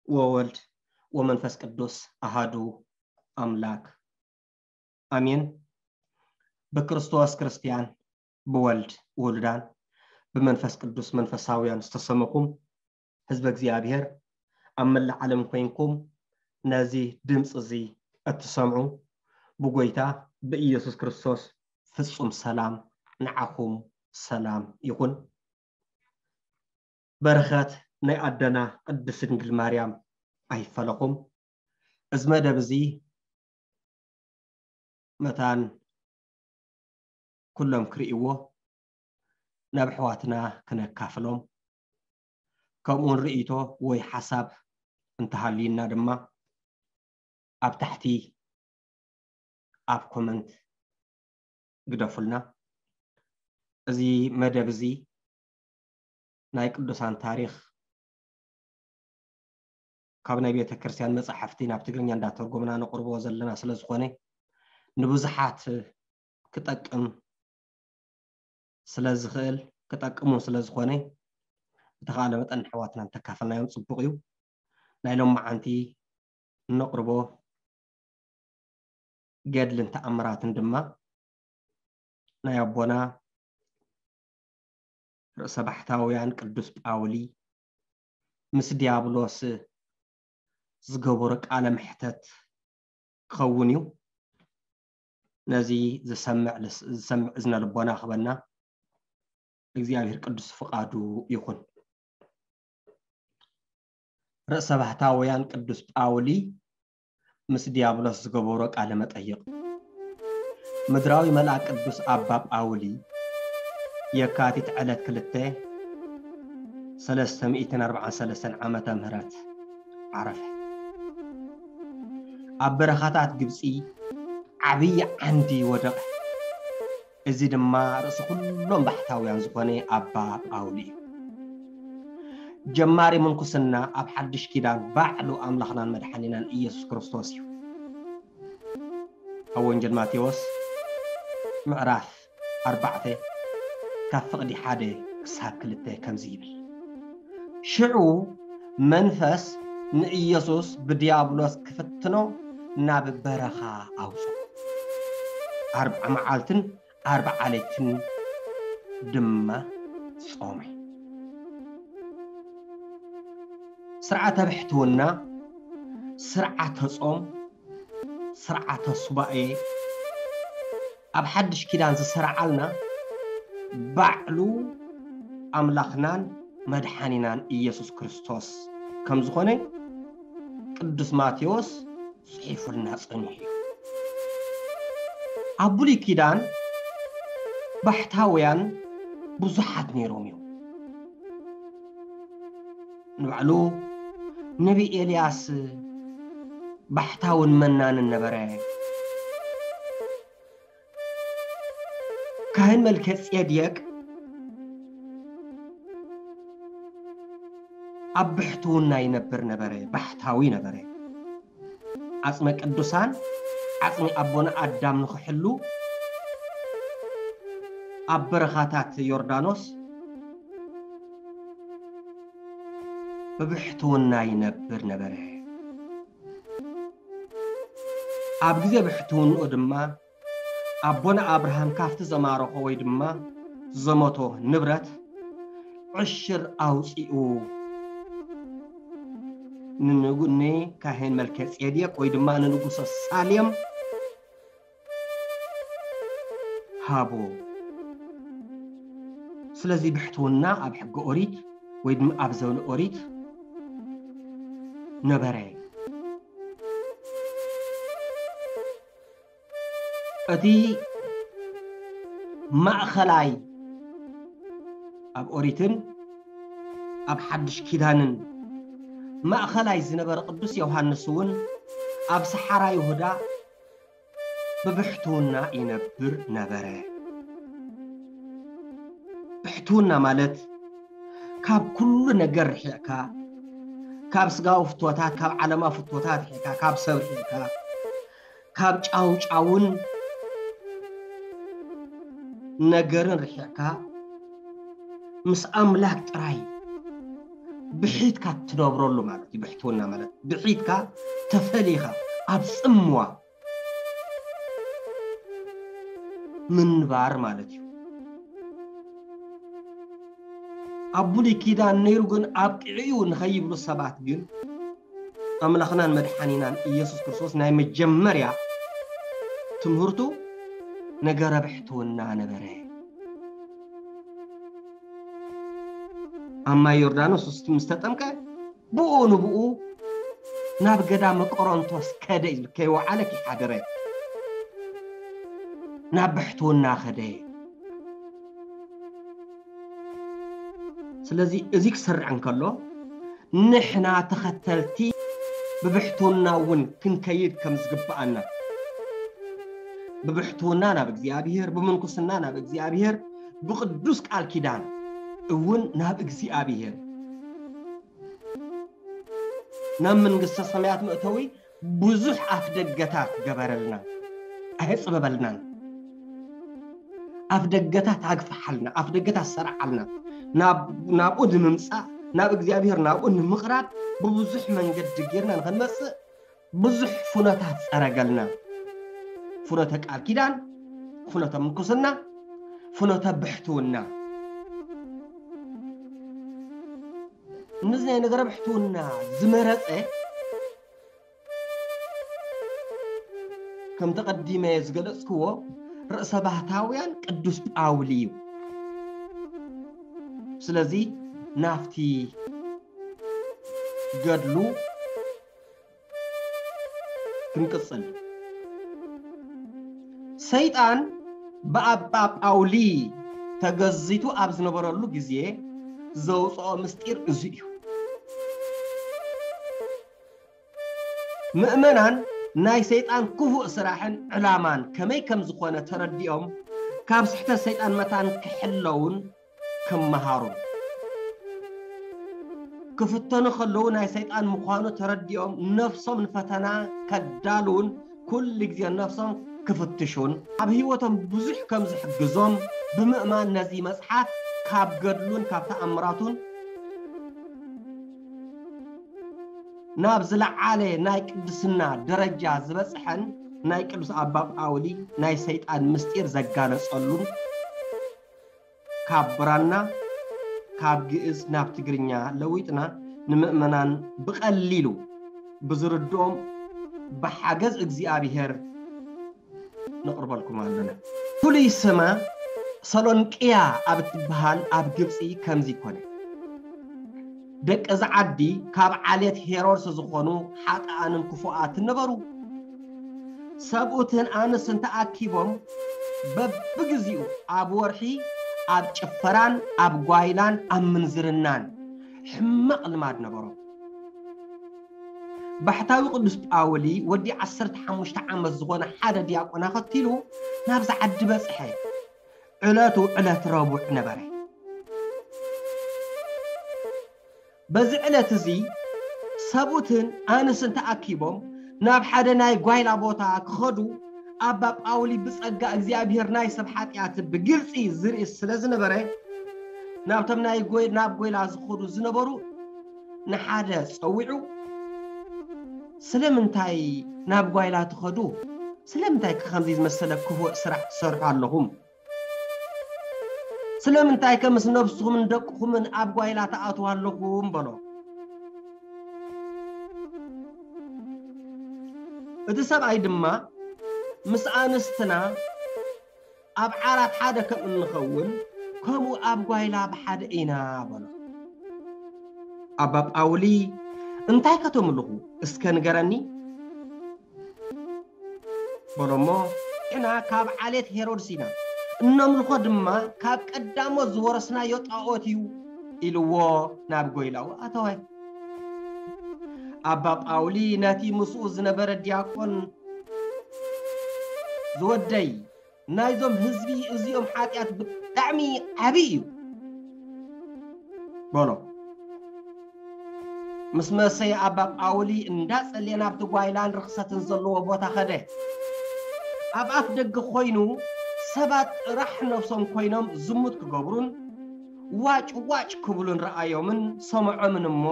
ወወልድ ወመንፈስ ቅዱስ ኣሃዱ ኣምላክ ኣሜን። ብክርስቶስ ክርስትያን፣ ብወልድ ውሉዳን፣ ብመንፈስ ቅዱስ መንፈሳውያን ዝተሰመኹም ህዝበ እግዚኣብሔር ኣብ መላእ ዓለም ኮይንኩም ነዚ ድምፂ እዚ እትሰምዑ ብጎይታ ብኢየሱስ ክርስቶስ ፍጹም ሰላም ንዓኹም ሰላም ይኹን። በረኸት ናይ ኣደና ቅድስት ድንግል ማርያም ኣይፈለኹም። እዚ መደብ እዚ መታን ኩሎም ክርእይዎ ናብ ኣሕዋትና ክነካፍሎም፣ ከምኡውን ርእይቶ ወይ ሓሳብ እንተሃልዩና ድማ ኣብ ታሕቲ ኣብ ኮመንት ግደፉልና። እዚ መደብ እዚ ናይ ቅዱሳን ታሪኽ ካብ ናይ ቤተ ክርስቲያን መጻሕፍቲ ናብ ትግርኛ እንዳተርጎምና ነቕርቦ ዘለና ስለ ዝኾነ፣ ንብዙሓት ክጠቅም ስለ ዝኽእል፣ ክጠቅም እውን ስለ ዝኾነ፣ ብተኻእለ መጠን ንኣሕዋትና እንተካፈልናዮም ጽቡቕ እዩ። ናይ ሎማዓንቲ እነቕርቦ ገድልን ተኣምራትን ድማ ናይ ኣቦና ርእሰ ባሕታውያን ቅዱስ ጳውሊ ምስ ዲያብሎስ ዝገበሮ ቃለ መሕተት ክኸውን እዩ። ነዚ ዝሰምዕ ልስ-፣ ዝሰምዕ እዝነ ልቦና ክበና እግዚኣብሔር ቅዱስ ፍቓዱ ይኹን። ርእሰ ባሕታውያን ቅዱስ ጳውሊ ምስ ዲያብሎስ ዝገበሮ ቃለ መጠይቕ። ምድራዊ መልኣክ ቅዱስ ኣባ ጳውሊ የካቲት ዕለት ክልተ ሰለስተ ሚእትን ኣርባዓን ሰለስተን ዓመተ ምህረት ዓረፈ። ኣብ በረኻታት ግብጺ ዓብዪ ዓንዲ ወደቐ። እዚ ድማ ርእሲ ኩሎም ባሕታውያን ዝኾነ ኣባ ጳውሊ እዩ። ጀማሪ ምንኩስና ኣብ ሓድሽ ኪዳን ባዕሉ ኣምላኽናን መድሓኒናን ኢየሱስ ክርስቶስ እዩ። ኣብ ወንጌል ማቴዎስ ምዕራፍ ኣርባዕተ ካብ ፍቕዲ ሓደ ክሳብ ክልተ ከምዚ ይብል። ሽዑ መንፈስ ንኢየሱስ ብዲያብሎስ ክፍትኖ ናብ በረኻ ኣውጽኦ። ኣርብዓ መዓልትን ኣርብዓ ለይትን ድማ ጾመ። ስርዓተ ብሕትውና፣ ስርዓተ ጾም፣ ስርዓተ ሱባኤ ኣብ ሓድሽ ኪዳን ዝሰርዓልና ባዕሉ ኣምላኽናን መድሓኒናን ኢየሱስ ክርስቶስ ከም ዝኾነ ቅዱስ ማቴዎስ ጽሒፉልና ጸኒሑ እዩ። ኣብ ብሉይ ኪዳን ባሕታውያን ብዙሓት ነይሮም እዮም። ንባዕሉ ነቢ ኤልያስ ባሕታውን መናንን ነበረ። ካህን መልከ ጼዴቅ ኣብ ብሕትውና ይነብር ነበረ፣ ባሕታዊ ነበረ። ዓጽመ ቅዱሳን፣ ዓጽሚ ኣቦና ኣዳም ንኽሕሉ ኣብ በረኻታት ዮርዳኖስ ብብሕትውና ይነብር ነበረ። ኣብ ግዜ ብሕትውንኡ ድማ ኣቦና ኣብርሃም ካብቲ ዘማረኾ ወይ ድማ ዘመቶ ንብረት ዕሽር ኣውጺኡ ንንጉ-፣ ንካህን መልከ ጼዴቅ ወይ ድማ ንንጉሰ ሳሌም ሃቦ። ስለዚ ብሕትውና ኣብ ሕገ ኦሪት ወይ ድማ ኣብ ዘበነ ኦሪት ነበረ። እቲ ማእኸላይ ኣብ ኦሪትን ኣብ ሓድሽ ኪዳንን ማእኸላይ ዝነበረ ቅዱስ ዮሃንስ እውን ኣብ ሰሓራ ይሁዳ ብብሕትውና ይነብር ነበረ። ብሕትውና ማለት ካብ ኩሉ ነገር ርሒቕካ፣ ካብ ስጋዊ ፍትወታት፣ ካብ ዓለማዊ ፍትወታት ርሒቕካ፣ ካብ ሰብ ርሒቕካ፣ ካብ ጫውጫውን ነገርን ርሒቕካ ምስ ኣምላክ ጥራይ ብሒትካ ትነብረሉ ማለት እዩ። ብሕትውና ማለት ብሒትካ ተፈሊኻ ኣብ ጽምዋ ምንባር ማለት እዩ። ኣብ ብሉይ ኪዳን ነይሩ ግን ኣብቂዑ እዩ ንኸይብሉ ሰባት ግን ኣምላኽናን መድሓኒናን ኢየሱስ ክርስቶስ ናይ መጀመርያ ትምህርቱ ነገረ ብሕትውና ነበረ። ኣብ ማይ ዮርዳኖስ ምስ ተጠምቀ ብኡ ንብኡ ናብ ገዳመ ቆሮንቶስ ከደ እዩ ዝብል፣ ከይወዓለ ከይሓደረ ናብ ብሕትውና ከደ። ስለዚ እዚ ክሰርዕ እንከሎ ንሕና ተኸተልቲ ብብሕትውና እውን ክንከይድ ከም ዝግብኣና፣ ብብሕትውና ናብ እግዚኣብሔር፣ ብምንኩስና ናብ እግዚኣብሔር፣ ብቅዱስ ቃል ኪዳን እውን ናብ እግዚኣብሔር፣ ናብ መንግስተ ሰማያት መእተዊ ብዙሕ ኣፍ ደገታት ገበረልና፣ ኣየጽበበልናን። ኣፍ ደገታት ኣግፍሓልና፣ ኣፍ ደገታት ሰርዓልና። ናብ ናብኡ ንምምጻእ፣ ናብ እግዚኣብሔር ናብኡ ንምቕራብ ብብዙሕ መንገዲ ጌርና ንኽንመጽእ ብዙሕ ፍኖታት ጸረገልና። ፍኖተ ቃል ኪዳን፣ ፍኖተ ምንኩስና፣ ፍኖተ ብሕትውና። ነዚ ናይ ነገረ ብሕትውና ዝመረጸ ከም ተቐዲመ ዝገለጽክዎ ርእሰ ባህታውያን ቅዱስ ጳውሊ እዩ። ስለዚ ናብቲ ገድሉ ክንቅጽል። ሰይጣን ብኣባ ጳውሊ ተገዚቱ ኣብ ዝነበረሉ ግዜ ዘውፅኦ ምስጢር እዚ እዩ። ምእመናን ናይ ሰይጣን ክፉእ ስራሕን ዕላማን ከመይ ከም ዝኾነ ተረዲኦም ካብ ስሕተት ሰይጣን መታን ክሕለውን ክመሃሩን ክፍተኑ ከለዉ ናይ ሰይጣን ምዃኑ ተረዲኦም ነፍሶም ንፈተና ከዳልውን ኩሉ ግዜ ነፍሶም ክፍትሹን ኣብ ህይወቶም ብዙሕ ከም ዝሕግዞም ብምእማን ነዚ መጽሓፍ ካብ ገድሉን ካብ ተኣምራቱን ናብ ዝለዓለ ናይ ቅድስና ደረጃ ዝበጽሐን ናይ ቅዱስ ኣባ ጳውሊ ናይ ሰይጣን ምስጢር ዘጋለጸሉን ካብ ብራና ካብ ግእዝ ናብ ትግርኛ ለዊጥና ንምእመናን ብቐሊሉ ብዝርድኦም ብሓገዝ እግዚኣብሔር ነቕርበልኩም ኣለና። ፍሉይ ስማ ሰሎንቅያ ኣብ እትበሃል ኣብ ግብፂ ከምዚ ኮነ። ደቂ እዚ ዓዲ ካብ ዓሌት ሄሮድስ ዝኾኑ ሓጥኣንን ክፉኣትን ነበሩ። ሰብኡትን ኣንስትን ተኣኪቦም በብግዚኡ ኣብ ወርሒ ኣብ ጭፈራን ኣብ ጓይላን ኣብ ምንዝርናን ሕማቕ ልማድ ነበሮም። ባሕታዊ ቅዱስ ጳውሊ ወዲ ዓሰርተ ሓሙሽተ ዓመት ዝኾነ ሓደ ዲያቆን ኣኸቲሉ ናብዚ ዓዲ በጽሐ። ዕለቱ ዕለት ረቡዕ ነበረ። በዚ ዕለት እዚ ሰብኡትን ኣንስትን ተኣኪቦም ናብ ሓደ ናይ ጓይላ ቦታ ክኸዱ ኣባ ጳውሊ ብጸጋ እግዚኣብሔር ናይ ሰብ ሓጢኣት ብግልጺ ዝርኢ ስለ ዝነበረ ናብቶም ናይ ጎይ ናብ ጎይላ ዝኸዱ ዝነበሩ ንሓደ ጸዊዑ ስለምንታይ ናብ ጓይላ ትኸዱ? ስለምንታይ ከ ከምዚ ዝመሰለ ክፉእ ስራሕ ትሰርሑ ኣለኹም? ስለምንታይ ከ ምስ ነብስኹምን ደቅኹምን ኣብ ጓይላ ትኣትዉ ኣለኹም? በሎ። እቲ ሰብኣይ ድማ ምስ ኣንስትና ኣብ ዓራት ሓደ ከም እንኸውን ከምኡ ኣብ ጓይላ ብሓደ ኢና በሎ። ኣባ ጳውሊ እንታይ ከተምልኹ እስከ ንገረኒ በሎሞ፣ ንሕና ካብ ዓሌት ሄሮድስ ኢና፣ እነምልኾ ድማ ካብ ቀዳሞት ዝወረስናዮ ጣዖት እዩ ኢልዎ ናብ ጎይላኡ ኣተወ። ኣባ ጳውሊ ነቲ ምስኡ ዝነበረ ዲያቆን ዝወደይ ናይዞም ህዝቢ እዚኦም ሓጢኣት ብጣዕሚ ዓብዪ እዩ በሎ። ምስ መሰየ ኣባ ጳውሊ እንዳጸልየ ናብቲ ጓይላን ርኽሰትን ዘለዎ ቦታ ኸደ። ኣብ ኣፍ ደገ ኮይኑ ሰባት ጥራሕ ነፍሶም ኮይኖም ዝሙት ክገብሩን ዋጭ ዋጭ ክብሉን ረኣዮምን ሰምዖምን እሞ፣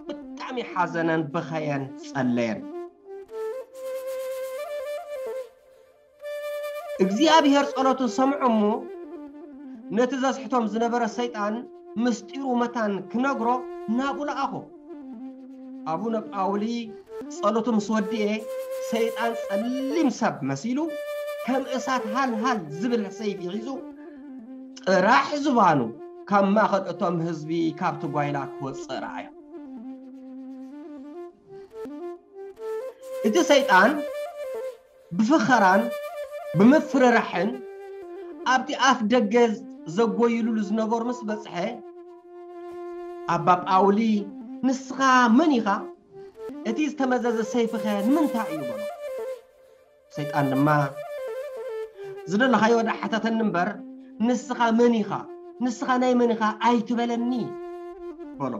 ብጣዕሚ ሓዘነን በኸየን ጸለየን። እግዚኣብሔር ጸሎቱ ሰምዖ እሞ፣ ነቲ ዘስሕቶም ዝነበረ ሰይጣን ምስጢሩ መታን ክነግሮ ናብኡ ለኣኾ። ኣቡነ ጳውሊ ጸሎቱ ምስ ወድኤ፣ ሰይጣን ጸሊም ሰብ መሲሉ፣ ከም እሳት ሃልሃል ዝብል ሰይፊ ሒዙ፣ ጥራሕ ዝባኑ ካብ ማእከል እቶም ህዝቢ ካብቲ ጓይላ ክወጽእ ረኣዮ። እቲ ሰይጣን ብፍኸራን ብምፍርራሕን ኣብቲ ኣፍ ደገ ዘጎይሉሉ ዝነበሩ ምስ በጽሐ፣ ኣባ ጳውሊ፣ "ንስኻ መን ኢኻ? እቲ ዝተመዘዘ ሰይፍኸ ንምንታይ እዩ?" በሎ። ሰይጣን ድማ፣ "ዝደለኻዮ ደኣ ሓተተኒ እምበር፣ ንስኻ መን ኢኻ? ንስኻ ናይ መን ኢኻ ኣይትበለኒ?" በሎ።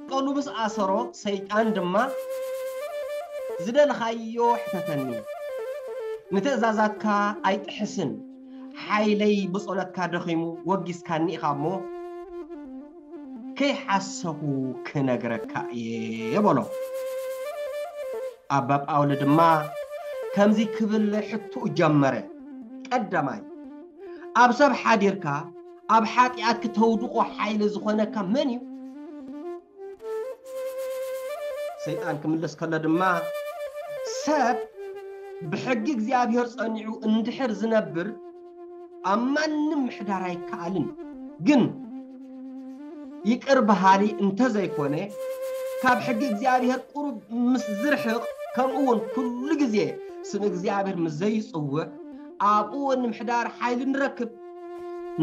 ቀሉ ምስ ኣሰሮ፣ ሰይጣን ድማ፣ "ዝደለኻዮ ሕተተኒ፣ ንትእዛዛትካ ኣይጥሕስን፣ ሓይለይ ብጸሎትካ ደኺሙ ወጊስካኒ ኢኻ እሞ፣ ከይሓሰኹ ክነግረካ እየ" በሎ። ኣባ ጳውሊ ድማ ከምዚ ክብል ሕቶኡ ጀመረ። ቀዳማይ፣ ኣብ ሰብ ሓዲርካ ኣብ ሓጢኣት ክተውድቖ ሓይሊ ዝኾነካ መን እዩ? ሰይጣን ክምልስ ከሎ ድማ፣ ሰብ ብሕጊ እግዚኣብሔር ጸኒዑ እንድሕር ዝነብር ኣብ ማንም ምሕዳር ኣይከኣልን። ግን ይቅር በሃሊ እንተዘይኮነ፣ ካብ ሕጊ እግዚኣብሔር ቁሩብ ምስ ዝርሕቕ፣ ከምኡ እውን ኩሉ ግዜ ስም እግዚኣብሔር ምስ ዘይጽውዕ፣ ኣብኡ እውን ንምሕዳር ሓይሊ ንረክብ።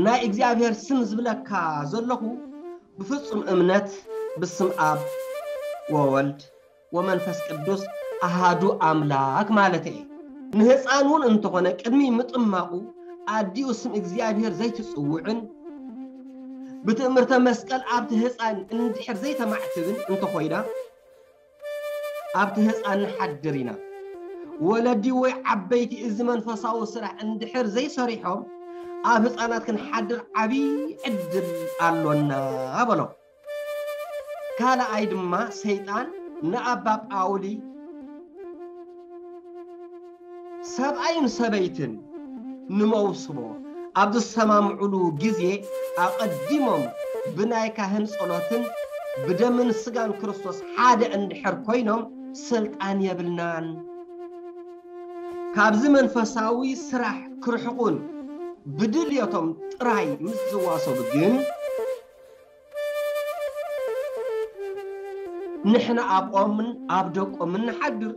ናይ እግዚኣብሔር ስም ዝብለካ ዘለኹ ብፍጹም እምነት ብስም ኣብ ወወልድ ወመንፈስ ቅዱስ ኣሃዱ ኣምላክ ማለት እየ። ንህፃን እውን እንተኾነ ቅድሚ ምጥማቁ ኣዲኡ ስም እግዚኣብሔር ዘይትጽውዕን ብትእምርተ መስቀል ኣብቲ ህፃን እንድሕር ዘይተማዕትብን እንተኾይና፣ ኣብቲ ህፃን ንሓድር ኢና። ወለዲ ወይ ዓበይቲ እዚ መንፈሳዊ ስራሕ እንድሕር ዘይሰሪሖም ኣብ ህፃናት ክንሓድር ዓብዪ ዕድል ኣሎና በሎ። ካልኣይ ድማ ሰይጣን ንኣባ ጳውሊ ሰብኣይን ሰበይትን ንመውስቦ ኣብ ዝሰማምዑሉ ግዜ ኣቐዲሞም ብናይ ካህን ጸሎትን ብደምን ስጋን ክርስቶስ ሓደ እንድሕር ኮይኖም ስልጣን የብልናን። ካብዚ መንፈሳዊ ስራሕ ክርሕቁን ብድልየቶም ጥራይ ምስ ዝዋሰቡ ግን ንሕና ኣብኦምን ኣብ ደቆምን ንሓድር፣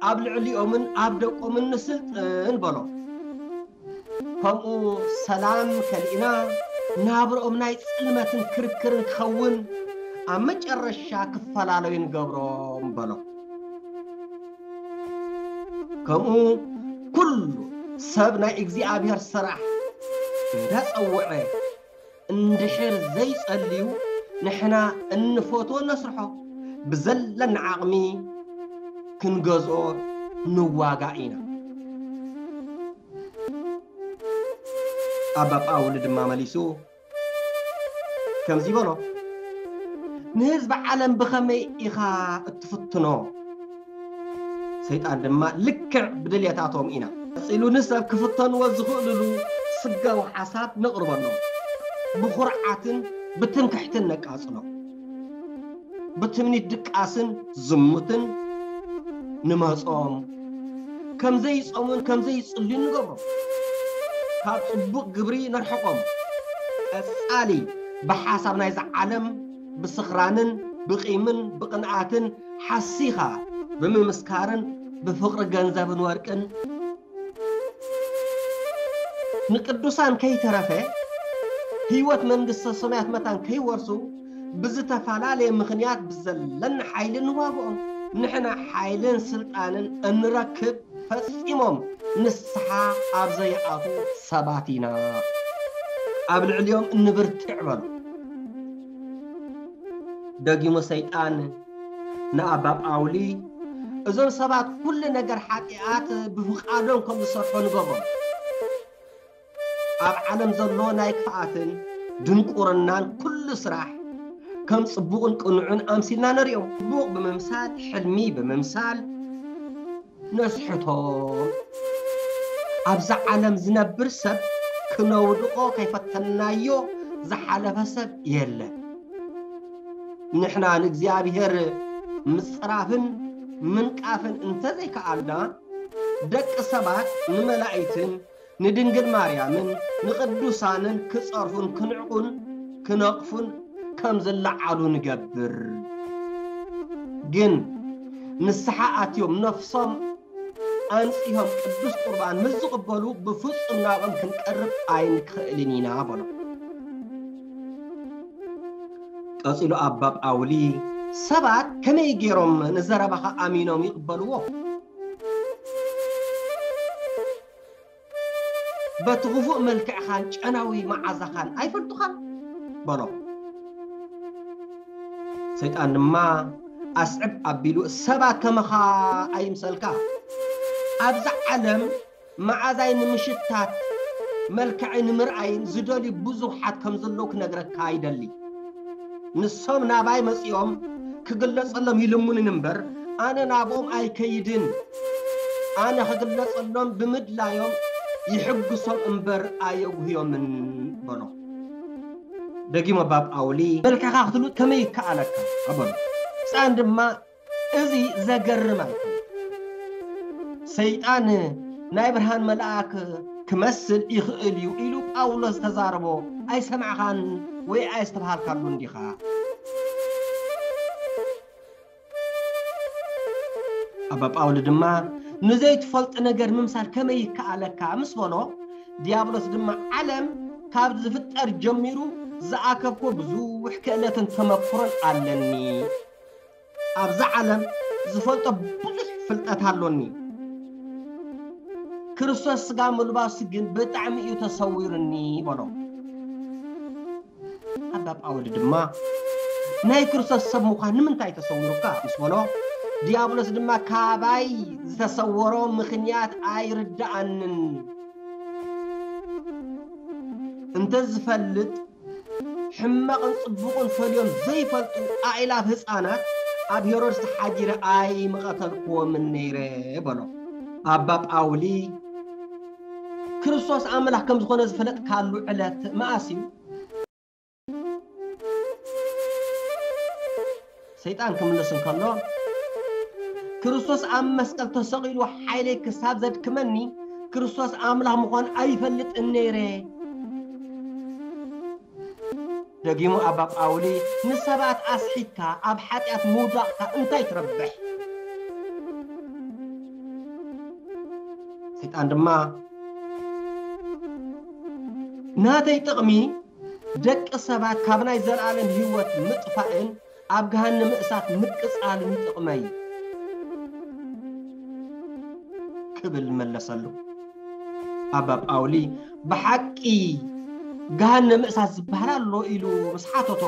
ኣብ ልዕሊኦምን ኣብ ደቆምን ንስልጥን በሎ። ከምኡ ሰላም ከሊእና ናብርኦም ናይ ጽልመትን ክርክርን ክኸውን ኣብ መጨረሻ ክፈላለዩ ንገብሮም በሎ። ከምኡ ኩሉ ሰብ ናይ እግዚኣብሔር ስራሕ እንዳጸውዐ እንድሕር ዘይጸልዩ ንሕና እንፈትዎ ነስርሖ ብዘለና ዓቕሚ ክንገዝኦ ንዋጋእ ኢና። ኣባ ጳውሊ ድማ መሊሱ ከምዚ በሎ፣ ንህዝቢ ዓለም ብኸመይ ኢኻ እትፍትኖ? ሰይጣን ድማ ልክዕ ብድልየታቶም ኢና። ቀጺሉ ንሰብ ክፍተንዎ ዝኽእልሉ ስጋዊ ሓሳብ ነቕርበሎም። ብኹርዓትን ብትምክሕትን ነቃጽሎም። ብትምኒት ድቃስን ዝሙትን ንመጾም። ከም ዘይጾሙን ከም ዘይጽልዩን ንገብሮም። ካብ ጽቡቕ ግብሪ ነርሕቖም። ቀጻሊ ብሓሳብ ናይዛ ዓለም ብስኽራንን ብቂምን ብቕንኣትን ሓሲኻ ብምምስካርን ብፍቕሪ ገንዘብን ወርቅን ንቅዱሳን ከይተረፈ ህይወት መንግስተ ሰማያት መታን ከይወርሱ ብዝተፈላለየ ምኽንያት ብዘለና ሓይሊ ንዋግኦም። ንሕና ሓይልን ስልጣንን እንረክብ ፈጺሞም ንስሓ ኣብ ዘይኣትዉ ሰባት ኢና። ኣብ ልዕሊኦም እንብርትዕ በሉ። ደጊሙ ሰይጣን ንኣባ ጳውሊ፣ እዞም ሰባት ኩሉ ነገር ሓጢኣት ብፍቓዶም ከም ዝሰርሑ ንገሮም። ኣብ ዓለም ዘሎ ናይ ክፍኣትን ድንቁርናን ኩሉ ስራሕ ከም ጽቡቕን ቅኑዕን ኣምሲልና ንርእዮ። ጽቡቕ ብምምሳል፣ ሕልሚ ብምምሳል ነስሕቶም። ኣብዛ ዓለም ዝነብር ሰብ ክነውድቖ ከይፈተንናዮ ዝሓለፈ ሰብ የለን። ንሕና ንእግዚኣብሔር ምጽራፍን ምንቃፍን እንተዘይከኣልና፣ ደቂ ሰባት ንመላእክትን ንድንግል ማርያምን ንቅዱሳንን ክጸርፉን ክንዕቁን ክነቕፉን ከም ዝለዓሉ ንገብር። ግን ንስሓ ኣትዮም ነፍሶም ኣንጺሆም ቅዱስ ቁርባን ምስ ዝቕበሉ ብፍጹም ናብኦም ክንቀርብ ኣይንክእልን ኢና በሎ። ቀጺሉ ኣባ ጳውሊ ሰባት ከመይ ገይሮም ንዘረባኻ ኣሚኖም ይቕበልዎ? በቲ ክፉእ መልክዕኻን ጨናዊ መዓዛኻን ኣይፈልጡኻን በሎ። ሰይጣን ድማ ኣስዕብ ኣቢሉ ሰባት ከመኻ ኣይምሰልካ። ኣብዛ ዓለም መዓዛይ ንምሽታት መልክዐይ ንምርኣይን ዝደልዩ ብዙሓት ከም ዘለዉ ክነግረካ ይደሊ። ንሶም ናባይ መጺኦም ክግለጸሎም ይልምኑን እምበር ኣነ ናብኦም ኣይከይድን። ኣነ ክግለጸሎም ብምድላዮም ይሕግሶም እምበር ኣየጉህዮምን በሎ። ደጊሙ ኣባ ጳውሊ መልክዕካ ክትልውጥ ከመይ ይከኣለካ ኣበሎ። ህፃን ድማ እዚ ዘገርም ኣይኮነ። ሰይጣን ናይ ብርሃን መልኣክ ክመስል ይኽእል እዩ ኢሉ ጳውሎስ ዝተዛረቦ ኣይሰማዕኻን ወይ ኣየስተብሃልካሉን ዲኻ? ኣባ ጳውሊ ድማ ንዘይትፈልጥ ነገር ምምሳል ከመይ ይከኣለካ ምስ በሎ፣ ዲያብሎስ ድማ ዓለም ካብ ዝፍጠር ጀሚሩ ዝኣከብኮ ብዙሕ ክእለትን ተመክሮን ኣለኒ። ኣብዛ ዓለም ዝፈልጦ ብዙሕ ፍልጠት ኣሎኒ። ክርስቶስ ስጋ ምልባሱ ግን ብጣዕሚ እዩ ተሰዊሩኒ በሎ። ኣባ ጳውሊ ድማ ናይ ክርስቶስ ሰብ ምዃን ንምንታይ ተሰዊሩካ ምስ በሎ፣ ዲያብሎስ ድማ ካባይ ዝተሰወሮ ምኽንያት ኣይርድኣንን። እንተዝፈልጥ ሕማቕን ጽቡቕን ፈልዮም ዘይፈልጡ ኣእላፍ ህጻናት ኣብ ሄሮድስ ተሓጊረ ኣይምቐተልክዎምን ነይረ በሎ። ኣባ ጳውሊ ክርስቶስ ኣምላኽ ከም ዝኾነ ዝፈለጥካሉ ዕለት መኣስ እዩ? ሰይጣን ክምልስ እንከሎ፣ ክርስቶስ ኣብ መስቀል ተሰቒሉ ሓይለይ ክሳብ ዘድክመኒ ክርስቶስ ኣምላኽ ምዃን ኣይፈልጥን ነይረ። ደጊሙ ኣባ ጳውሊ ንሰባት ኣስሒትካ ኣብ ሓጢኣት ምውዳቕካ እንታይ ትረብሕ? ሰይጣን ድማ ናተይ ጥቕሚ ደቂ ሰባት ካብ ናይ ዘለኣለም ህይወት ምጥፋእን ኣብ ገሃነመ እሳት ምቅጻልን ይጥቕመይ ክብል መለሰሉ። ኣባ ጳውሊ ብሓቂ ገሃነመ እሳት ዝበሃል ኣሎ ኢሉ ምስ ሓተቶ፣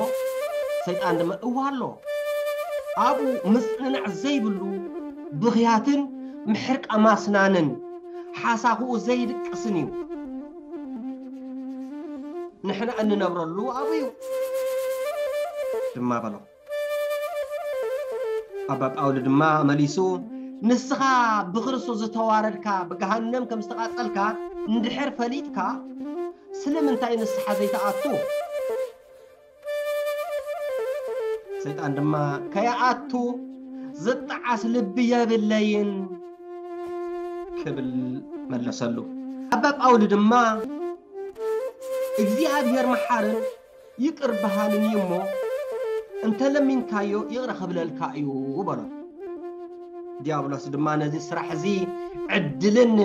ሰይጣን ድማ እወ ኣሎ፣ ኣብኡ ምጽንናዕ ዘይብሉ ብኽያትን ምሕርቃ ማስናንን ሓሳኹኡ ዘይድቅስን እዩ። ንሕና እንነብረሉ ኣብኡ እዩ ድማ በሎ። ኣባ ጳውሊ ድማ መሊሱ፣ ንስኻ ብክርስቶስ ዝተዋረድካ ብገሃነም ከም ዝተቓጸልካ እንድሕር ፈሊጥካ ስለምንታይ ንስሓ ዘይትኣቱ? ሰይጣን ድማ ከይኣቱ ዝጠዓስ ልቢ የብለይን ክብል መለሰሉ። ኣባ ጳውሊ ድማ እግዚኣብሔር መሓርን ይቅር በሃልን እዩ እሞ እንተለሚንካዮ ይቅረ ክብለልካ እዩ በሎ። ዲያብሎስ ድማ ነዚ ስራሕ እዚ ዕድልን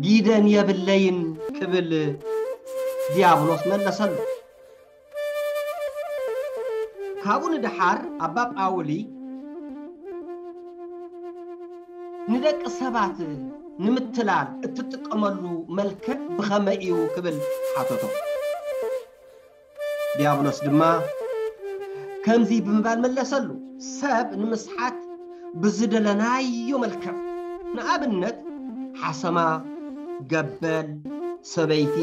ጊደን የብለይን ክብል ዲያብሎስ መለሰሉ። ካብኡ ንደሓር ኣባ ጳውሊ ንደቂ ሰባት ንምትላል እትጥቀመሉ መልክዕ ብኸመይ እዩ ክብል ሓተቶ። ዲያብሎስ ድማ ከምዚ ብምባል መለሰሉ፣ ሰብ ንምስሓት ብዝደለናዮ መልክዕ፣ ንኣብነት ሓሰማ፣ ገበል፣ ሰበይቲ፣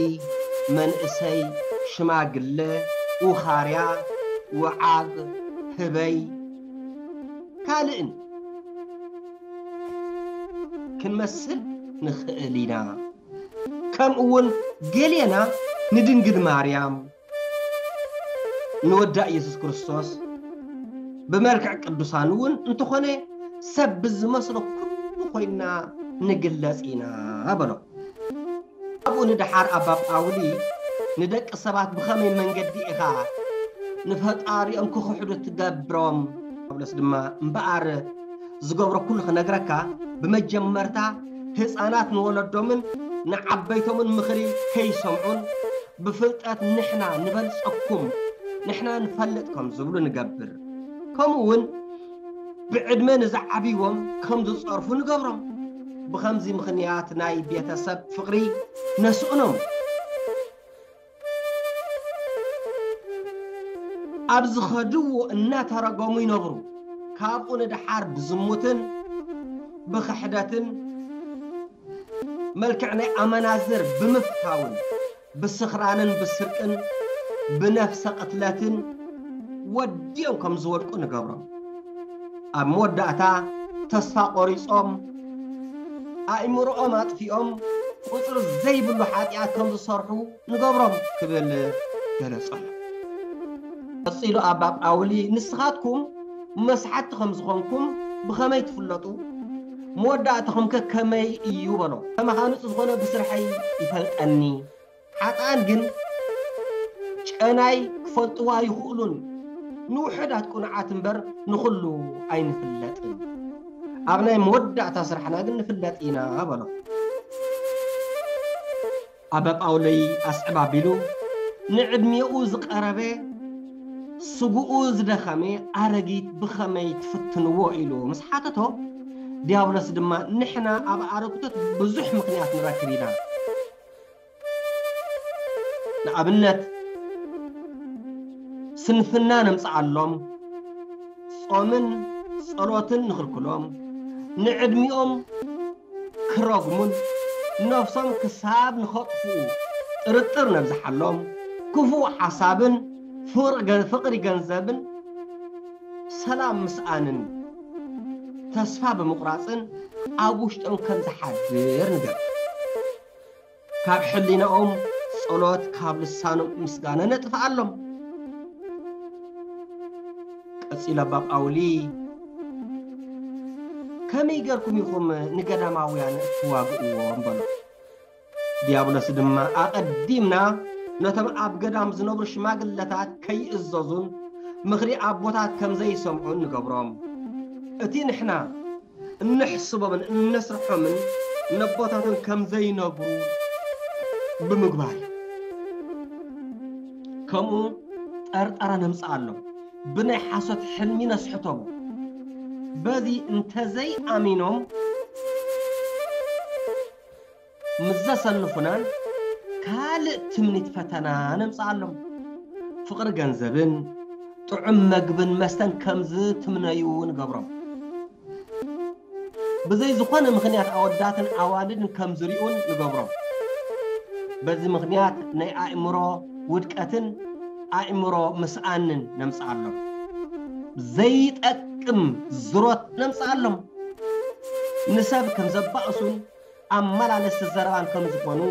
መንእሰይ፣ ሽማግለ፣ ውኻርያ፣ ውዓግ፣ ህበይ፣ ካልእን ክንመስል ንኽእል ኢና። ከምኡ እውን ገሌና ንድንግል ማርያም፣ ንወዳ ኢየሱስ ክርስቶስ ብመልክዕ ቅዱሳን እውን እንተኾነ ሰብ ብዝመስሎ ኩሉ ኮይና ንግለጽ ኢና በሎ። ኣብኡ ንደሓር ኣባ ጳውሊ ንደቂ ሰባት ብኸመይ መንገዲ ኢኻ ንፈጣሪኦም ክኽሕዱ ትገብሮም? ጳውሎስ ድማ እምበኣር ዝገብሮ ኩሉ ክነግረካ፣ ብመጀመርታ ህፃናት ንወለዶምን ንዓበይቶምን ምኽሪ ከይሰምዑን ብፍልጠት ንሕና ንበልፀኩም፣ ንሕና ንፈልጥ ከም ዝብሉ ንገብር። ከምኡ እውን ብዕድመ ንዝዓብይዎም ከም ዝፀርፉ ንገብሮም። ብኸምዚ ምኽንያት ናይ ቤተሰብ ፍቕሪ ነስእኖም። ኣብ ዝኸድዎ እናተረገሙ ይነብሩ። ካብኡ ንደሓር ብዝሙትን ብኽሕደትን መልክዕ ናይ ኣመናዝር ብምፍታውን ብስኽራንን ብስርቅን ብነፍሰ ቅትለትን ወዲኦም ከም ዝወድቁ ንገብሮም። ኣብ መወዳእታ ተስፋ ቆሪጾም ኣእምሮኦም ኣጥፊኦም ቁጽሪ ዘይብሉ ሓጢኣት ከም ዝሰርሑ ንገብሮም ክብል ገለጸሎም። ቀጺሉ ኣባ ጳውሊ ንስኻትኩም መስሓቲ ከም ዝኾንኩም ብኸመይ ትፍለጡ? መወዳእታኹም ከ ከመይ እዩ በሎ። ከማኻ ንጹህ ዝኾነ ብስርሐይ ይፈልጠኒ። ሓጥኣን ግን ጨናይ ክፈልጥዋ ይኽእሉን ንውሑዳት ቅኑዓት እምበር ንኹሉ ኣይንፍለጥን። ኣብ ናይ መወዳእታ ስራሕና ግን ንፍለጥ ኢና በሎ። ኣባ ጳውሎይ ኣስዕብ ኣቢሉ ንዕድሚኡ ዝቐረበ ስጉኡ ዝደኸመ ኣረጊት ብኸመይ ትፍትንዎ ኢሉ ምስ ሓተቶ፣ ዲያብሎስ ድማ ንሕና ኣብ ኣረግቶት ብዙሕ ምኽንያት ንረክብ ኢና። ንኣብነት ስንፍና ነምጽኣሎም፣ ጾምን ጸሎትን ንኽልክሎም፣ ንዕድሚኦም ክረግሙን ነፍሶም ክሳብ ንኸጥፍኡ ጥርጥር ነብዝሓሎም፣ ክፉእ ሓሳብን ፍቕሪ ገ- ፍቕሪ ገንዘብን ሰላም ምስኣንን ተስፋ ብምቑራጽን ኣብ ውሽጦም ከም ዝሓድር ንገር። ካብ ሕሊናኦም ጸሎት፣ ካብ ልሳኖም ምስጋና ነጥፍኣሎም። ቀጺሉ ኣባ ጳውሊ፣ ከመይ ገርኩም ኢኹም ንገዳማውያን እትዋግእዎም? በሎ። ዲያብሎስ ድማ፣ ኣቐዲምና ነቶም ኣብ ገዳም ዝነብሩ ሽማግለታት ከይእዘዙን ምኽሪ ኣቦታት ከም ዘይሰምዑን ንገብሮም። እቲ ንሕና እንሕስቦምን እነስርሖምን ነቦታቶም ከም ዘይነግሩ ብምግባር እዩ። ከምኡ ጠርጠራ ነምጽኣሎም፣ ብናይ ሓሶት ሕልሚ ነስሕቶም። በዚ እንተዘይኣሚኖም ምስ ዘሰንፉናን ካልእ ትምኒት ፈተና ነምጽኣሎም። ፍቕሪ ገንዘብን ጥዑም መግብን መስተን ከም ዝትምነዩ ንገብሮም። ብዘይ ዝኾነ ምኽንያት ኣወዳትን ኣዋልድን ከም ዝሪኡን ንገብሮም። በዚ ምኽንያት ናይ ኣእምሮ ውድቀትን ኣእምሮ ምስኣንን ነምጽኣሎም። ዘይጠቅም ዝሮት ነምጽኣሎም። ንሰብ ከም ዘባእሱን ኣመላለስቲ ዘረባን ከም ዝኾኑ፣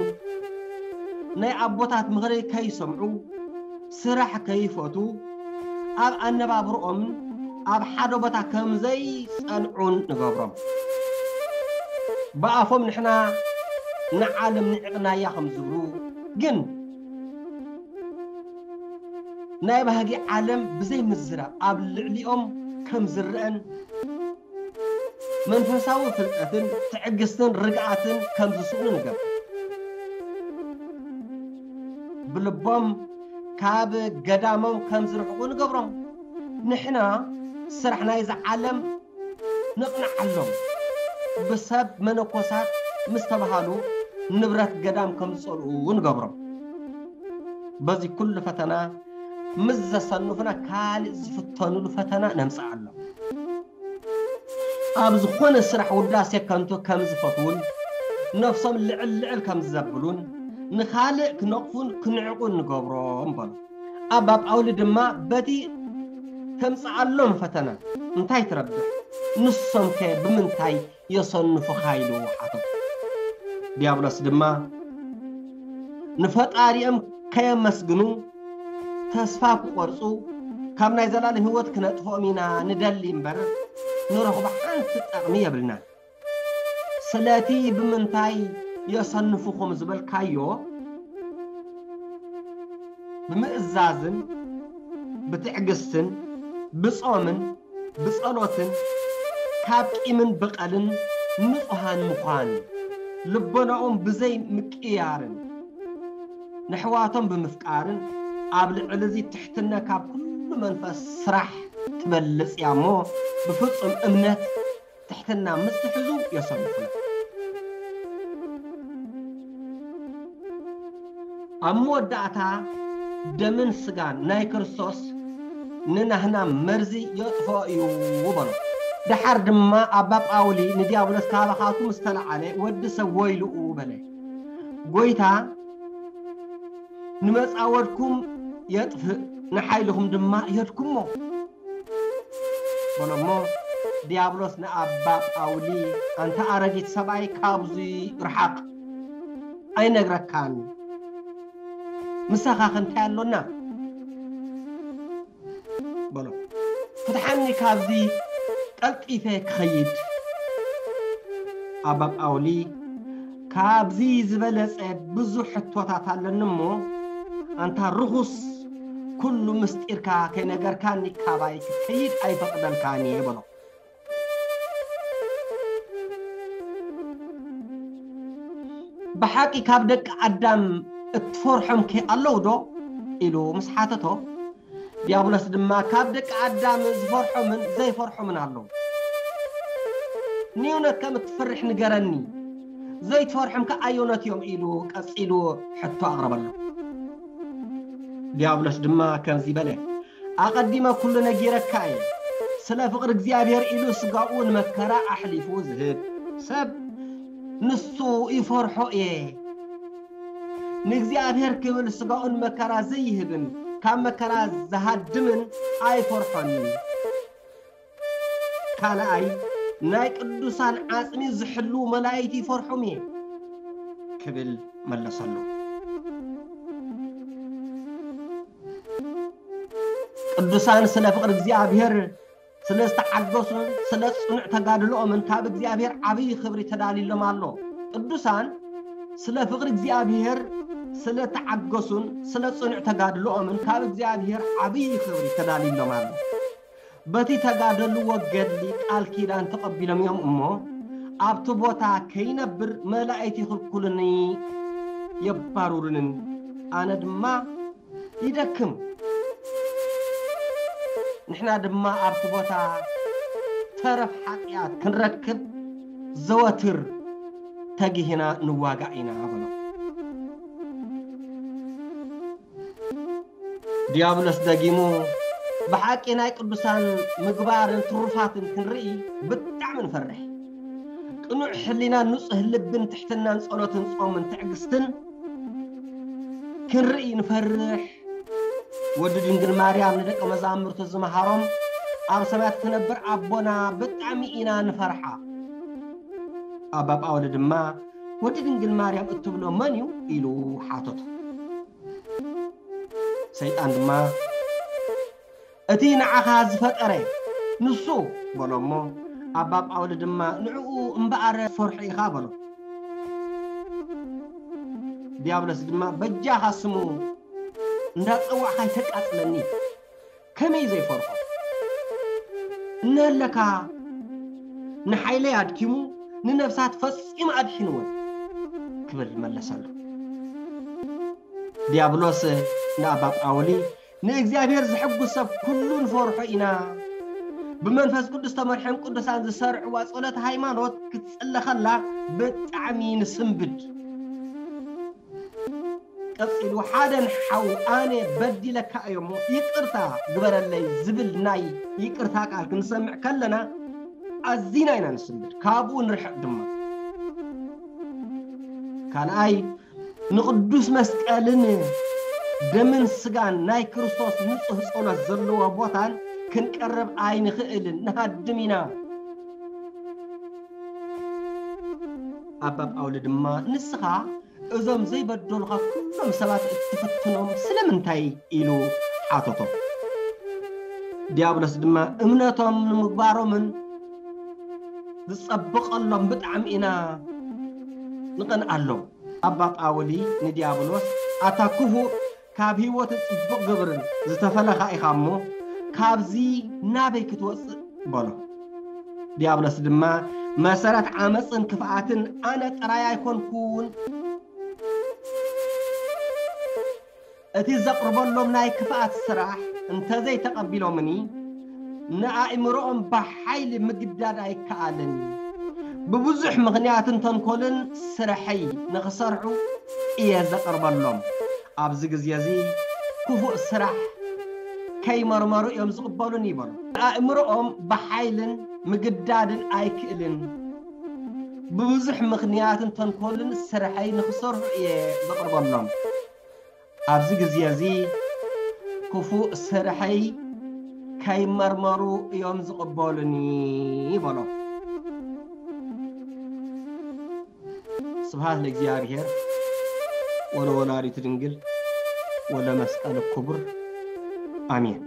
ናይ ኣቦታት ምኽሪ ከይሰምዑ፣ ስራሕ ከይፈቱ፣ ኣብ ኣነባብርኦምን ኣብ ሓደ ቦታ ከም ዘይጸንዑን ንገብሮም። ብኣፎም ንሕና ንዓለም ንዕቕናያ ከም ዝብሉ፣ ግን ናይ ባህጊ ዓለም ብዘይ ምዝራብ ኣብ ልዕሊኦም ከም ዝረአን መንፈሳዊ ፍልጠትን ትዕግስትን ርግኣትን ከም ዝስእኑ ንገብር። ብልቦም ካብ ገዳሞም ከም ዝርሕቁ ንገብሮም። ንሕና ስራሕ ናይዚ ዓለም ነቕንዓሎም። ብሰብ መነኮሳት ምስ ተባሃሉ ንብረት ገዳም ከም ዝጸልኡ ንገብሮም። በዚ ኩሉ ፈተና ምስ ዘሰንፉና ካልእ ዝፍተኑሉ ፈተና ነምጽኣሎም። ኣብ ዝኾነ ስራሕ ውዳሴ ከንቱ ከም ዝፈትዉን ነፍሶም ልዕል ልዕል ከም ዘብሉን ንኻልእ ክነቕፉን ክንዕቑን ንገብሮም በሎ። ኣባ ጳውሊ ድማ በቲ ተምጽኣሎም ፈተና እንታይ ትረብሕ? ንሶምከ ብምንታይ የሰንፉኻ? ኢሉ ሓተቶ። ዲያብሎስ ድማ ንፈጣሪኦም ከየመስግኑ ተስፋ ክቖርጹ፣ ካብ ናይ ዘላለም ህይወት ክነጥፍኦም ኢና ንደሊ እምበር፣ ንረኽቦ ሓንቲ ጠቕሚ የብልናን። ስለቲ ብምንታይ የሰንፉኹም ዝበልካዮ፣ ብምእዛዝን ብትዕግስትን ብጾምን ብጸሎትን ካብ ቂምን በቐልን ንጹሃን ምዃን፣ ልቦናኦም ብዘይ ምቅያርን ነሕዋቶም ብምፍቃርን፣ ኣብ ልዕሊ እዚ ትሕትና ካብ ኩሉ መንፈስ ስራሕ ትበልጽ እያ እሞ፣ ብፍጹም እምነት ትሕትና ምስ ትሕዙ የሰንፉና። ኣብ መወዳእታ ደምን ስጋን ናይ ክርስቶስ ንናህና መርዚ የጥፍኦ እዩ በሎ። ደሓር ድማ ኣባ ጳውሊ ንዲያብሎስ ካባኻቱ ምስ ተለዓለ፣ ወዲ ሰብ ወይልኡ በለ። ጎይታ ንመጻወድኩም የጥፍእ፣ ንሓይልኹም ድማ የድክሞ በሎ እሞ፣ ዲያብሎስ ንኣባ ጳውሊ፣ ኣንታ ኣረጊት ሰብኣይ፣ ካብዚ ርሓቕ፣ ኣይነግረካን፣ ምሳኻ ከ እንታይ ኣሎና በሎ። ፍትሓኒ፣ ካብዚ ቀልጢፈ ክኸይድ። ኣባ ጳውሊ፣ ካብዚ ዝበለጸ ብዙሕ ሕቶታት ኣለኒ እሞ፣ ኣንታ ርኹስ፣ ኩሉ ምስጢርካ ከይነገርካኒ ካባይ ክትከይድ ኣይፈቕደልካን እየ በሎ። ብሓቂ ካብ ደቂ ኣዳም እትፈርሖም ከ ኣለዉ ዶ? ኢሉ ምስ ሓተቶ፣ ዲያብሎስ ድማ፣ ካብ ደቂ ኣዳም ዝፈርሖምን ዘይፈርሖምን ኣለዉ። ንዩነት ከም እትፈርሕ ንገረኒ፣ ዘይትፈርሖም ከ ኣየኖት እዮም? ኢሉ ቀጺሉ ሕቶ ኣቕረበሉ። ዲያብሎስ ድማ ከምዚ በለ፣ ኣቐዲመ ኩሉ ነጊረካ እየ። ስለ ፍቕሪ እግዚኣብሔር ኢሉ ስጋኡ ንመከራ ኣሕሊፉ ዝህብ ሰብ ንሱ ይፈርሖ እየ። ንእግዚኣብሔር ክብል ስጋኡ ንመከራ ዘይህብን ካብ መከራ ዝሃድምን ኣይፈርሖን። ካልኣይ፣ ናይ ቅዱሳን ዓጽሚ ዝሕልዉ መላእክት ይፈርሖም እየ ክብል መለሰሉ። ቅዱሳን ስለ ፍቕሪ እግዚኣብሔር ስለ ዝተዓገሱን ስለ ጽኑዕ ተጋድሎኦምን ካብ እግዚኣብሔር ዓብዪ ክብሪ ተዳልዩሎም ኣሎ። ቅዱሳን ስለ ፍቕሪ እግዚኣብሔር ስለ ተዓገሱን ስለ ጽኑዕ ተጋድሎኦምን ካብ እግዚኣብሔር ዓብዪ ክብሪ ተዳልዩሎም ኣሎ። በቲ ተጋደልዎ ገድሊ ቃል ኪዳን ተቐቢሎም እዮም እሞ፣ ኣብቲ ቦታ ከይነብር መላእክት ይኽልኩሉኒ የባሩሩንን፣ ኣነ ድማ ይደክም። ንሕና ድማ ኣብቲ ቦታ ተረፍ ሓጢኣት ክንረክብ ዘወትር ተጊህና ንዋጋእ ኢና በሎ። ዲያብሎስ ደጊሙ፣ ብሓቂ ናይ ቅዱሳን ምግባርን ትሩፋትን ክንርኢ ብጣዕሚ ንፈርሕ። ቅኑዕ ሕሊናን ንጹህ ልብን ትሕትናን ጸሎትን ጾምን ትዕግስትን ክንርኢ ንፈርሕ። ወዲ ድንግል ማርያም ንደቂ መዛሙርቱ ዝመሃሮም፣ ኣብ ሰማያት ትነብር ኣቦና ብጣዕሚ ኢና ንፈርሓ። ኣባ ጳውሊ ድማ፣ ወዲ ድንግል ማርያም እትብሎ መን እዩ? ኢሉ ሓተቶ። ሰይጣን ድማ፣ እቲ ንዓኻ ዝፈጠረ ንሱ በሎ እሞ፣ ኣባ ጳውሊ ድማ፣ ንዕኡ እምበኣር ፈርሖ ኢኻ በሎ። ዲያብሎስ ድማ፣ በጃኻ ስሙ እንዳጸዋዕካ ኣይተቃጽለኒ፣ ከመይ ዘይፈርሖ? እነሀለካ ንሓይለይ ኣድኪሙ፣ ንነፍሳት ፈጺሙ ኣድሒንወን ክብል መለሰሉ። ዲያብሎስ ንኣባ ጳውሊ፣ ንእግዚኣብሔር ዝሕጉስ ሰብ ኩሉ ንፈርሖ ኢና። ብመንፈስ ቅዱስ ተመርሖም ቅዱሳን ዝሰርዕዋ ጸሎት ሃይማኖት ክትጽለ ከላ ብጣዕሚ ንስንብድ። ቀጺሉ፣ ሓደ ንሓው ኣነ በዲለካ እየ እሞ ይቅርታ ግበረለይ ዝብል ናይ ይቅርታ ቃል ክንሰምዕ ከለና ኣዚና ኢና ንስንብድ፣ ካብኡ ንርሕቅ ድማ። ካልኣይ፣ ንቕዱስ መስቀልን ደምን ስጋን ናይ ክርስቶስ ንጹህ ጸሎት ዘለዎ ቦታን ክንቀርብ ኣይንኽእልን፣ ንሃድም ኢና። ኣባ ጳውሊ ድማ፣ ንስኻ እዞም ዘይበደሉኻ ኩሎም ሰባት እትፍትኖም ስለምንታይ? ኢሉ ሓተቶ። ዲያብሎስ ድማ፣ እምነቶም ንምግባሮምን ዝጸብቐሎም ብጣዕሚ ኢና ንቐንኣሎም። ኣባ ጳውሊ ንዲያብሎስ፣ ኣታ ክፉእ፣ ካብ ህይወትን ጽቡቕ ግብርን ዝተፈለኻ ኢኻ እሞ፣ ካብዚ ናበይ ክትወጽእ? በሎ። ዲያብሎስ ድማ፣ መሰረት ዓመጽን ክፍኣትን ኣነ ጥራይ ኣይኮንኩን። እቲ ዘቕርበሎም ናይ ክፍኣት ስራሕ እንተዘይተቐቢሎምኒ፣ ንኣእምሮኦም ብሓይሊ ምግዳድ ኣይከኣልን። ብብዙሕ ምኽንያትን ተንኮልን ስርሐይ ንኽሰርሑ እየ ዘቕርበሎም። ኣብዚ ግዜ እዚ ክፉእ ስራሕ ከይመርመሩ እዮም ዝቕበሉኒ፣ ይበሉ። ኣእምሮኦም ብሓይልን ምግዳድን ኣይክእልን። ብብዙሕ ምኽንያትን ተንኮልን ስርሐይ ንኽሰርሑ እየ ዘቕርበሎም። ኣብዚ ግዜ እዚ ክፉእ ስርሐይ ከይመርመሩ እዮም ዝቕበሉኒ፣ ይበሎ። ስብሐት ለእግዚኣብሔር ወለወላዲቱ ድንግል ወለመስቀሉ ክቡር፣ ኣሜን።